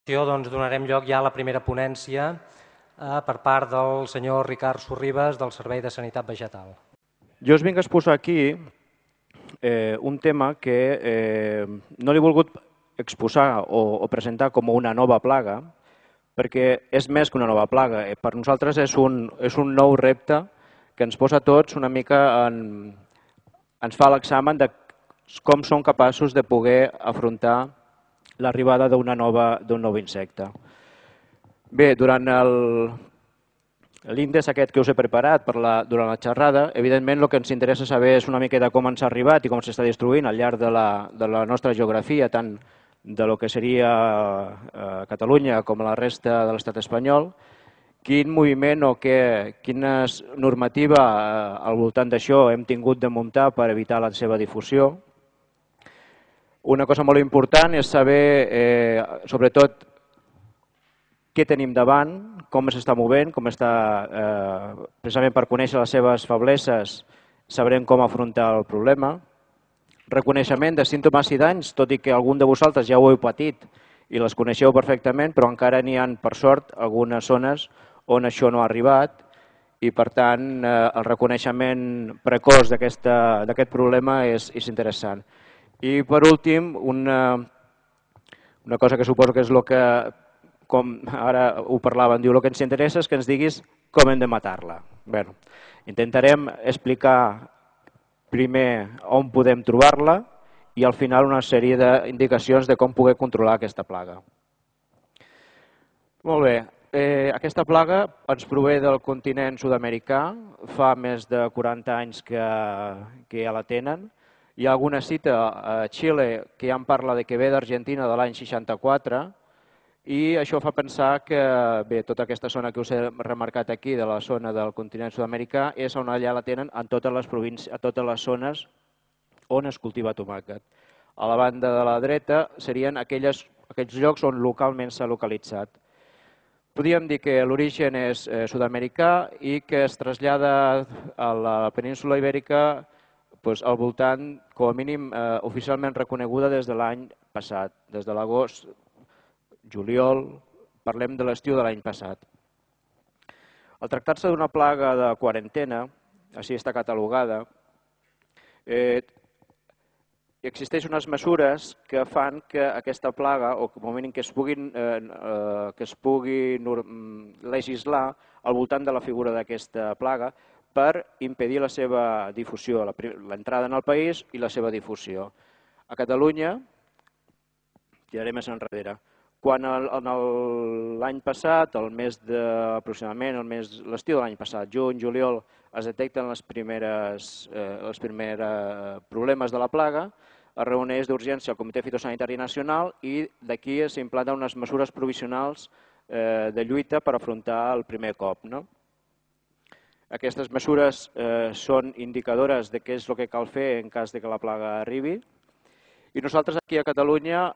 Doncs donarem lloc ja a la primera ponència per part del senyor Ricard Sorribes del Servei de Sanitat Vegetal. Jo us vinc a exposar aquí un tema que no l'he volgut exposar o presentar com una nova plaga, perquè és més que una nova plaga. Per nosaltres és un nou repte que ens posa tots una mica ens fa l'examen de com som capaços de poder afrontar l'arribada d'un nou insecte. Bé, durant l'índex aquest que us he preparat durant la xerrada, evidentment el que ens interessa saber és una miqueta com ens ha arribat i com s'està destruint al llarg de la nostra geografia, tant de lo que seria Catalunya com la resta de l'estat espanyol, quin moviment o quina normativa al voltant d'això hem tingut de muntar per evitar la seva difusió. Una cosa molt important és saber, sobretot, què tenim davant, com s'està movent, precisament per conèixer les seves febleses, sabrem com afrontar el problema. Reconeixement de símptomes i danys, tot i que algun de vosaltres ja ho heu patit i les coneixeu perfectament, però encara n'hi ha, per sort, algunes zones on això no ha arribat i, per tant, el reconeixement precoç d'aquest problema és interessant. I, per últim, una cosa que suposo que és el que, com ara ho parlaven, diu, el que ens interessa és que ens diguis com hem de matar-la. Bé, intentarem explicar primer on podem trobar-la i al final una sèrie d'indicacions de com poder controlar aquesta plaga. Molt bé, aquesta plaga ens prové del continent sud-americà, fa més de 40 anys que ja la tenen. Hi ha alguna cita a Xile que ja en parla que ve d'Argentina de l'any 64 i això fa pensar que tota aquesta zona que us he remarcat aquí, de la zona del continent sud-americà, és on allà la tenen en totes les províncies, a totes les zones on es cultiva tomàquet. A la banda de la dreta serien aquells llocs on localment s'ha localitzat. Podríem dir que l'origen és sud-americà i que es trasllada a la península ibèrica al voltant, com a mínim, oficialment reconeguda des de l'any passat, des de l'agost, juliol, parlem de l'estiu de l'any passat. Al tractar-se d'una plaga de quarantena, així està catalogada, existeixen unes mesures que fan que aquesta plaga, o com a mínim que es pugui legislar al voltant de la figura d'aquesta plaga, per impedir la seva difusió, l'entrada en el país i la seva difusió. A Catalunya, tiraré més enrere, quan l'any passat, aproximadament l'estiu de l'any passat, juny, juliol, es detecten els primers problemes de la plaga, es reuneix d'urgència el Comitè Fitosanitari Nacional i d'aquí s'implanten unes mesures provisionals de lluita per afrontar el primer cop. Aquestes mesures són indicadores de què és el que cal fer en cas que la plaga arribi. I nosaltres aquí a Catalunya,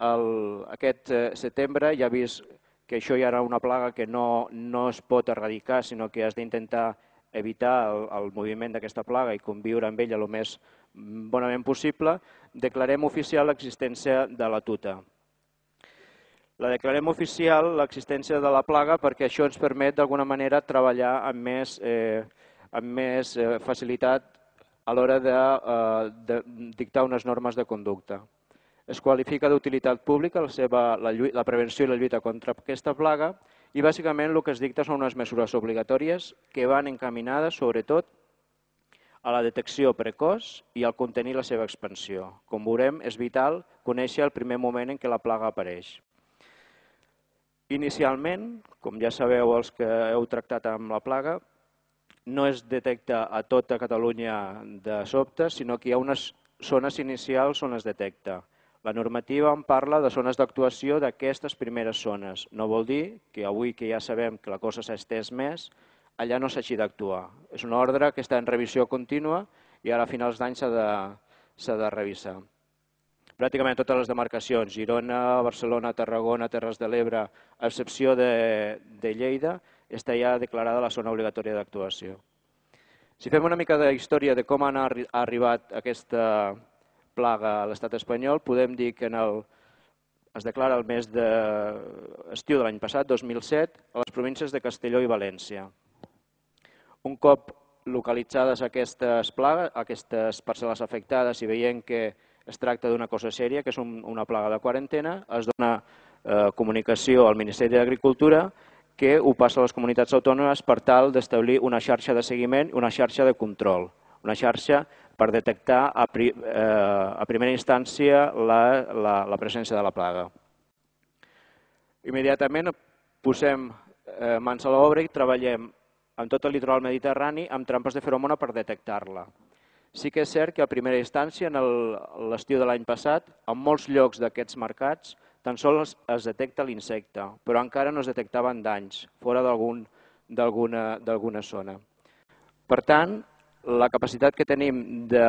aquest setembre, ja vist que això ja era una plaga que no es pot erradicar, sinó que has d'intentar evitar el moviment d'aquesta plaga i conviure amb ella el més bonament possible, declarem oficial l'existència de la tuta. La declarem oficial l'existència de la plaga perquè això ens permet d'alguna manera treballar amb més facilitat a l'hora de dictar unes normes de conducta. Es qualifica d'utilitat pública la prevenció i la lluita contra aquesta plaga i bàsicament el que es dicta són unes mesures obligatòries que van encaminades sobretot a la detecció precoç i al contenir la seva expansió. Com veurem, és vital conèixer el primer moment en què la plaga apareix. Inicialment, com ja sabeu els que heu tractat amb la plaga, no es detecta a tota Catalunya de sobte, sinó que hi ha unes zones inicials on es detecta. La normativa en parla de zones d'actuació d'aquestes primeres zones. No vol dir que avui que ja sabem que la cosa s'ha estès més, allà no s'hagi d'actuar. És una ordre que està en revisió contínua i ara a finals d'any s'ha de revisar. Pràcticament totes les demarcacions, Girona, Barcelona, Tarragona, Terres de l'Ebre, a excepció de Lleida, està ja declarada la zona obligatòria d'actuació. Si fem una mica de història de com ha arribat aquesta plaga a l'estat espanyol, podem dir que es declara el mes d'estiu de l'any passat, 2007, a les províncies de Castelló i València. Un cop localitzades aquestes plagues, aquestes parcel·les afectades i veient que es tracta d'una cosa sèria, que és una plaga de quarantena, es dona comunicació al Ministeri d'Agricultura que ho passa a les comunitats autònomes per tal d'establir una xarxa de seguiment i una xarxa de control, una xarxa per detectar a primera instància la presència de la plaga. Immediatament posem mans a l'obra i treballem en tot el litoral mediterrani amb trampes de feromona per detectar-la. Sí que és cert que a primera instància, en l'estiu de l'any passat, en molts llocs d'aquests mercats, tan sols es detecta l'insecte, però encara no es detectaven danys fora d'alguna zona. Per tant, la capacitat que tenim de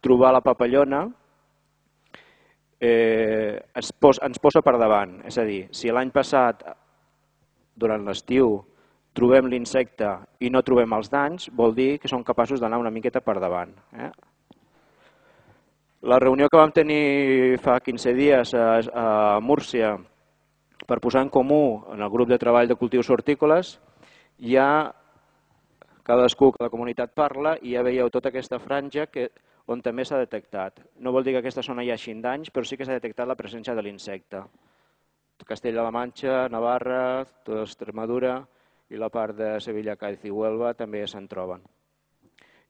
trobar la papallona ens posa per davant. És a dir, si l'any passat, durant l'estiu, trobem l'insecte i no trobem els danys, vol dir que som capaços d'anar una miqueta per davant. La reunió que vam tenir fa 15 dies a Múrcia per posar en comú en el grup de treball de cultius hortícoles, ja cadascú, cada comunitat parla i ja veieu tota aquesta franja on també s'ha detectat. No vol dir que aquesta zona hi hagi danys, però sí que s'ha detectat la presència de l'insecte. Castella-La Manxa, Navarra, tota Extremadura i la part de Sevilla, Cádiz i Huelva també se'n troben.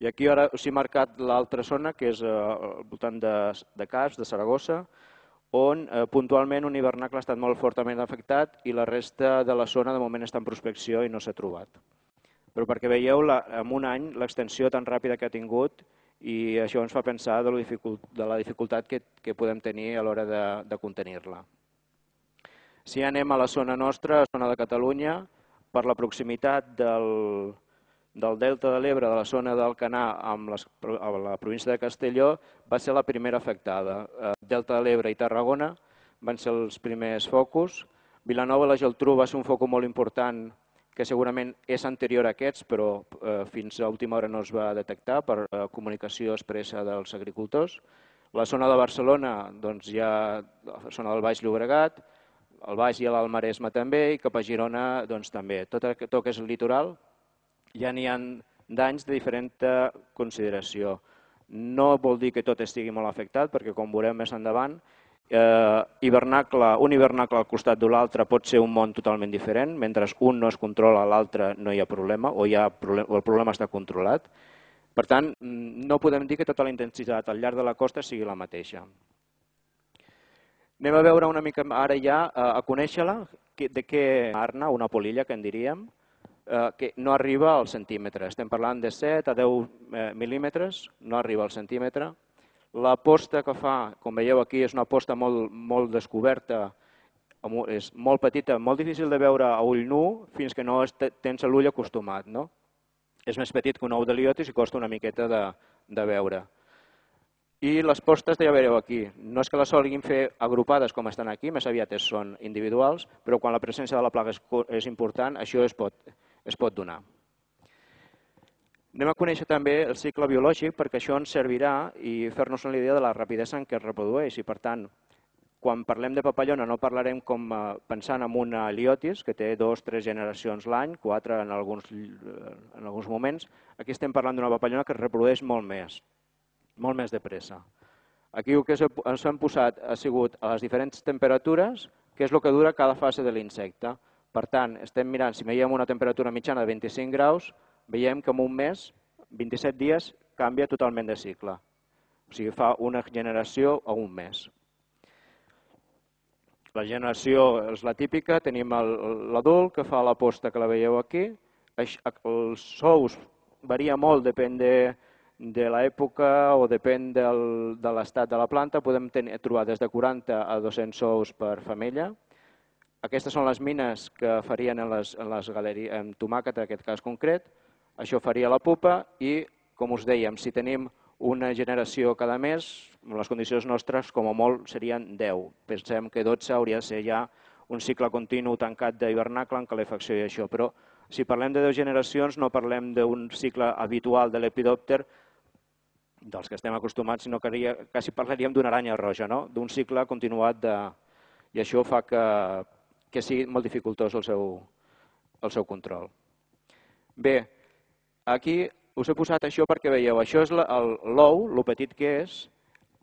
I aquí ara us he marcat l'altra zona, que és al voltant de Casp, de Saragossa, on puntualment un hivernacle ha estat molt fortament afectat i la resta de la zona de moment està en prospecció i no s'ha trobat. Però perquè veieu en un any l'extensió tan ràpida que ha tingut i això ens fa pensar de la dificultat que podem tenir a l'hora de contenir-la. Si anem a la zona nostra, a la zona de Catalunya, per la proximitat del Delta de l'Ebre, de la zona d'Alcanar amb la província de Castelló, va ser la primera afectada. Delta de l'Ebre i Tarragona van ser els primers focus. Vilanova i la Geltrú va ser un focus molt important que segurament és anterior a aquests, però fins a última hora no es va detectar per comunicació expressa dels agricultors. La zona de Barcelona, doncs hi ha la zona del Baix Llobregat, el Baix i l'Alt Maresme també, i cap a Girona doncs, també. Tot el que és el litoral ja n'hi ha danys de diferent consideració. No vol dir que tot estigui molt afectat, perquè com veurem més endavant, un hivernacle al costat de l'altre pot ser un món totalment diferent, mentre un no es controla, l'altre no hi ha problema, o el problema està controlat. Per tant, no podem dir que tota la intensitat al llarg de la costa sigui la mateixa. Anem a veure una mica ara ja, a conèixer-la, de què arna, una polilla, que en diríem, que no arriba al centímetre. Estem parlant de 7 a 10 mil·límetres, no arriba al centímetre. La posta que fa, com veieu aquí, és una posta molt descoberta, és molt petita, molt difícil de veure a ull nu fins que no tens l'ull acostumat. És més petit que un ou de liotis i costa una miqueta de veure. I les postes ja veureu aquí. No és que les solguin fer agrupades com estan aquí, més aviat són individuals, però quan la presència de la plaga és important, això es pot donar. Anem a conèixer també el cicle biològic perquè això ens servirà i fer-nos una idea de la rapidesa en què es reprodueix. I per tant, quan parlem de papallona no parlarem com pensant en una liotis que té 2 o 3 generacions l'any, 4 en alguns moments. Aquí estem parlant d'una papallona que es reprodueix molt més de pressa. Aquí el que ens hem posat ha sigut a les diferents temperatures, que és el que dura cada fase de l'insecte. Per tant, estem mirant, si veiem una temperatura mitjana de 25 graus, veiem que en un mes, 27 dies, canvia totalment de cicle. O sigui, fa una generació a un mes. La generació és la típica, tenim l'adult que fa la posta que la veieu aquí. Els ous varia molt, depèn de l'època o depèn de l'estat de la planta. Podem trobar des de 40 a 200 ous per femella. Aquestes són les mines que farien en les galeries, en tomàquet en aquest cas concret. Això faria la pupa i, com us dèiem, si tenim una generació cada mes, en les condicions nostres, com a molt, serien 10. Pensem que 12 hauria de ser ja un cicle continu tancat d'hivernacle en calefacció i això. Però si parlem de 10 generacions no parlem d'un cicle habitual de lepidòpter dels que estem acostumats, sinó que quasi parlaríem d'una aranya roja, d'un cicle continuat i això fa que sigui molt dificultós el seu control. Bé, aquí us he posat això perquè veieu, això és l'ou, el petit que és,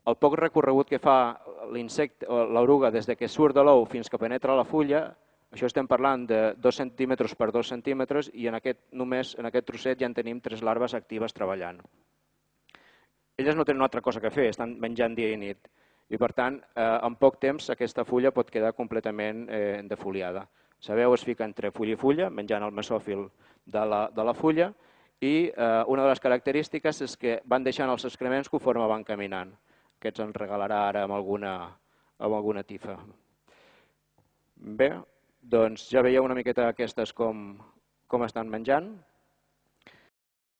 el poc recorregut que fa l'insecte o l'oruga des que surt de l'ou fins que penetra la fulla. Això estem parlant de 2 centímetres per 2 centímetres i només en aquest trosset ja en tenim 3 larves actives treballant. Elles no tenen una altra cosa que fer, estan menjant dia i nit. I per tant, en poc temps aquesta fulla pot quedar completament defoliada. Sabeu, es fica entre fulla i fulla, menjant el mesòfil de la fulla, i una de les característiques és que van deixant els excrements conforme van caminant. Aquests ens regalarà ara amb alguna tifa. Bé, doncs ja veieu una miqueta aquestes com estan menjant.